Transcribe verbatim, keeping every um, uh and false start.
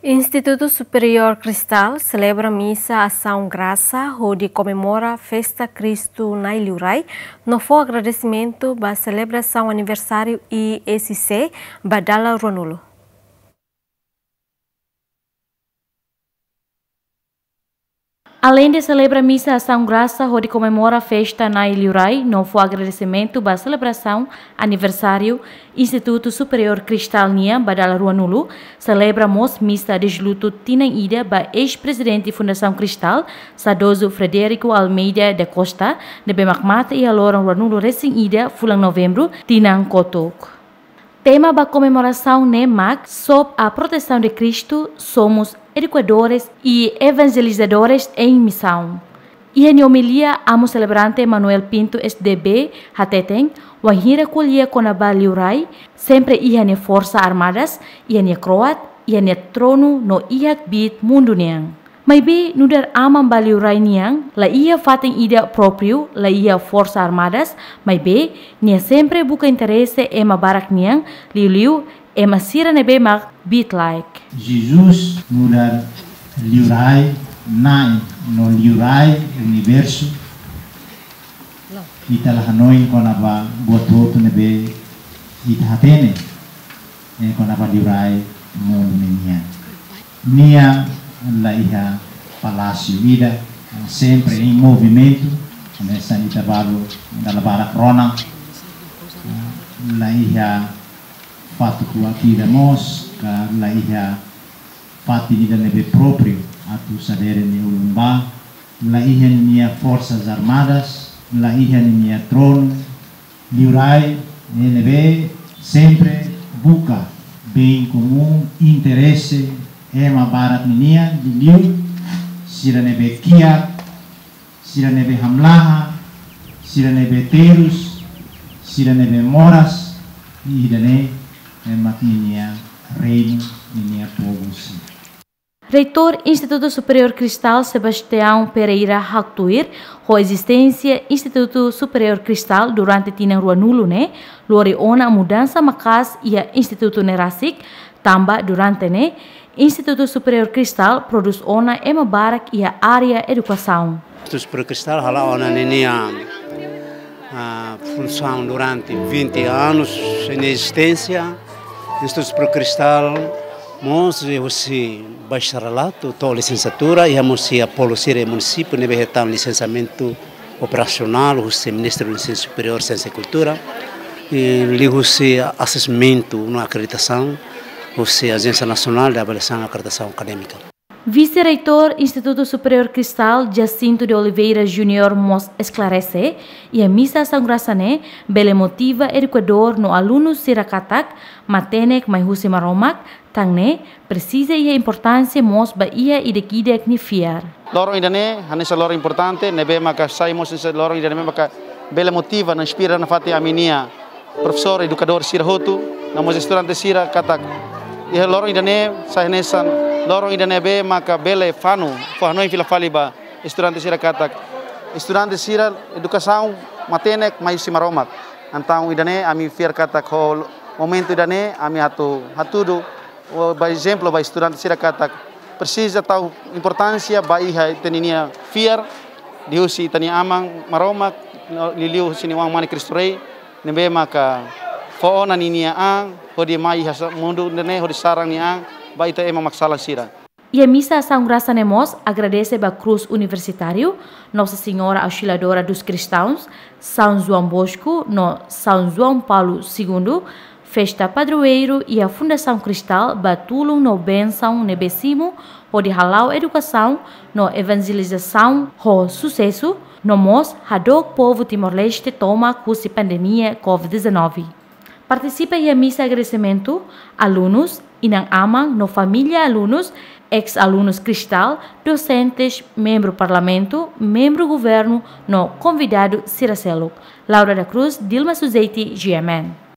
Institutu Superiór Cristal selebra misa Asaun Grasa hodi komemora festa Kristu Na'i Liurai no fó agradesimentu ba selebrasaun aniversáriu I S C ba dala ruanulu. Aleinde selebra misa Asaun Grasa hodi komemora festa Na'i Liurai no fó agradesimentu ba selebrasaun aniversáriu Institutu Superiór Cristal nian ba dala ruanulu, selebra mós misa dezlutu tinan ida ba eis-prezidente Fundasaun Cristal, saudozu Frederico Almeida da Costa, ne'ebé mak mate iha loron ruanulu resin ida fulan Novembru tinan kotuk. Tema ba komemorasaun ne'e mak Sob a Proteção de Cristo, Somos Educadores e Evangelizadores em Missão. Iha nia omilia, amu selebrante Manuel Pinto S D B hateten, wainhira ko'alia kona-ba Liurai, sempre iha nia Forsa Armadas, iha nia kroat, iha nia tronu no iha kbiit mundu nian. Maibé nu'udar aman ba Liurai nian, la iha fatin ida própriu, la iha Forsa Armadas, maibé nia sempre buka interese ema barak nian, liuliu ema sira ne'ebé mak kbiit-laek. Jesus nu'udar Liurai, Na'i no Liurai Universu. Ita la hanoin kona-ba buat hotu ne'ebé ita hatene, eh, kona-ba Liurai mundu ne'e nian. Nia la iha palásiu ida, sempre em movimento, hanesan ita balu dala barak rona. La iha fatuk-kuak ida mós, ka la iha fatin ida ne'ebé própriu atu sadere nia ulun ba, la iha ninia Forsas Armadas, la iha ninia tronu, Liurai ne'ebé sempre buka bem comum, interese ema barak ninian, liuliu sira ne'ebé kiak, sira ne'ebé hamlaha, sira ne'ebé terus, sira ne'ebé moras, i ida-ne'e mak ninia reinu, ninia povu sira. Reitór Institutu Superiór Cristal, Sebastião Pereira, haktuir ho ezisténsia Institutu Superiór Cristal durante tinan ruanulu ne'e lori ona mudansa maka'as iha institutu ne'e rasik, tanba durante ne'e Institutu Superiór Cristal prodús ona ema barak iha área edukasaun. Institutu Superiór Cristal hala'o ona ninia, ah, funsaun durante vinte anos nia ezisténsia. Institutu Superiór Cristal mós husi bacharelatu to'o lisensiatura, iha mós iha polu sira iha munisípiu ne'ebé hetan lisensiamentu operasionál husi Ministériu Ensinu Superiór, Siénsia i Kultura, i liuhusi asesmentu no akreditasaun husi Ajénsia Nasionál de Avaliação e Akreditasaun Akadémika. Vise-Reitór Institutu Superiór Cristal, Jacinto de Oliveira Júnior, mós esklarese, iha misa Asaun Grasa ne'e bele motiva edukadór no alunu sira katak matenek mai husi Maromak, tan ne'e presiza iha importánsia mós ba iha ida-idak nia fiar. Loron ida-ne'e hanesan loron importante, ne'ebé maka sai mós hanesan loron ida-ne'e maka bele motiva no inspira nafatin ami-nia profesór, edukadór sira hotu, no mós estudante sira katak iha loron ida-ne'e sai hanesan loron ida ne'ebé maka bele fanu, fó hanoin fila fali ba estudante sira katak estudante sira edukasaun matenek mai husi Maromak. Entaun ida-ne'e ami fiar katak ho momentu ida-ne'e ami atu hatudu, o, ba ezemplu ba estudante sira katak presiza tau importánsia ba iha ita-nia fiar liuhusi ita-nia Aman Maromak, liuliu husi nia Oan-Mane Kristu Rei, ne'ebé maka fó ona ninia an hodi mai iha sa-, mundu ne'e hodi sarani an ba ita ema maksalan sira. Iha misa Asaun Grasa ne'e mós agradese ba Krús Universitáriu, Nossa Senhora Auxiliadora dos Cristãos, São João Bosco no São João Paulo Segundo, festa padroeiru, iha Fundasaun Cristal ba tulun no bensaun ne'ebé simu hodi hala'o edukasaun no evanjelizasaun ho susesu, no mós hadook povu Timor-Leste tomak husi pandemia covid dezanove. Partisipa iha misa agradesimentu alunus, inan-aman no família alunus, eis-alunus Cristal, dosentes, membru Parlamentu, membru Governu no konvidadu sira seluk. Laura da Cruz, Dilma Suzeiti, G M N.